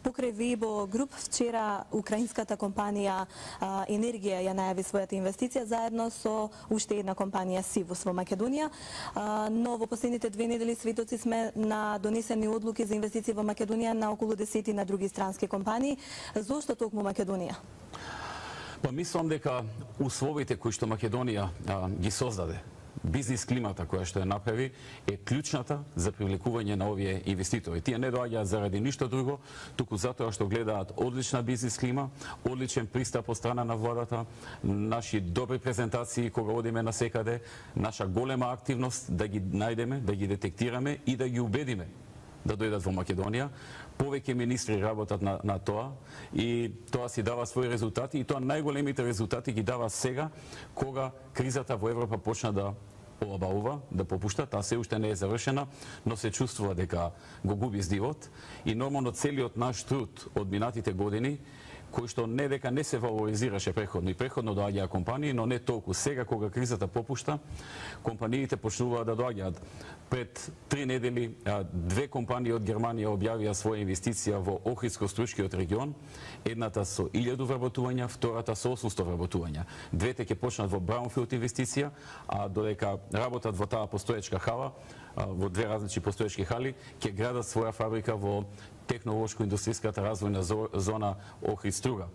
Покрај Weibo Group вчера украинската компанија Енергија ја најави својата инвестиција заедно со уште една компанија Сивус во Македонија. Но во последните 2 недели сведоци сме на донесени одлуки за инвестиции во Македонија на околу 10 на други странски компании. Зошто токму Македонија? Па мислам дека условите кои што Македонија ги создаде, бизнис климата која што ја направи е клучната за привлекување на овие инвеститори. Тие не доаѓаат заради ништо друго, туку затоа што гледаат одлична бизнис клима, одличен пристап од страна на владата, наши добри презентации кога одиме на секаде, наша голема активност да ги најдеме, да ги детектираме и да ги убедиме да дојдат во Македонија. Повеќе министри работат на тоа и тоа си дава своји резултати и тоа најголемите резултати ги дава сега кога кризата во Европа почна да олабавува, да попушта. Таа се уште не е завршена, но се чувствува дека го губи здивот и нормално целиот наш труд од минатите години кој што не дека не се валоризираше преходно и преходно доаѓаа компании, но не толку. Сега кога кризата попушта, компаниите почнуваат да доаѓаат. Пред 3 недели 2 компании од Германија објавија своја инвестиција во Охридско-Стручкиот регион, едната со 1000 вработувања, втората со 800 вработувања. Двете ќе почнат во браунфилд инвестиција, а додека работат во таа постоечка хала, во 2 различни постоечки хали, ќе градат своја фабрика во технолошко-индустријската развојна зона Охрид-Струга.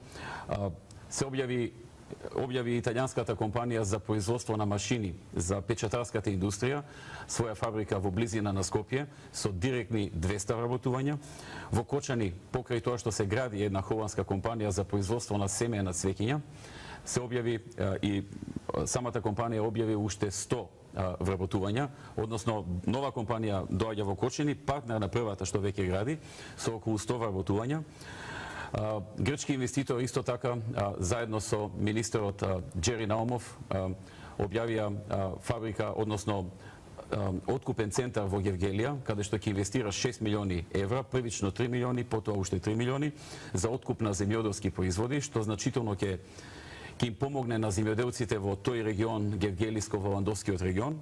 Се објави италијанската компанија за производство на машини за печатарската индустрија, своја фабрика во близина на Скопје со директни 200 вработувања. Во Кочани, покрај тоа што се гради една холандска компанија за производство на семе на цвеќиња, се објави и самата компанија објави уште 100 вработувања, односно нова компанија доаѓа во Кочани, партнер на првата што веќе гради, со околу 100 вработувања. Грчки инвеститор исто така, заедно со министерот Джери Наумов, објавија фабрика, односно откупен центар во Гевгелија, каде што ќе инвестира 6 милиони евра, првично 3 милиони, потоа уште 3 милиони за откуп на земјоделски производи, што значително ќе им помогне на земјоделците во тој регион, Гевгелиско-Воландовскиот регион.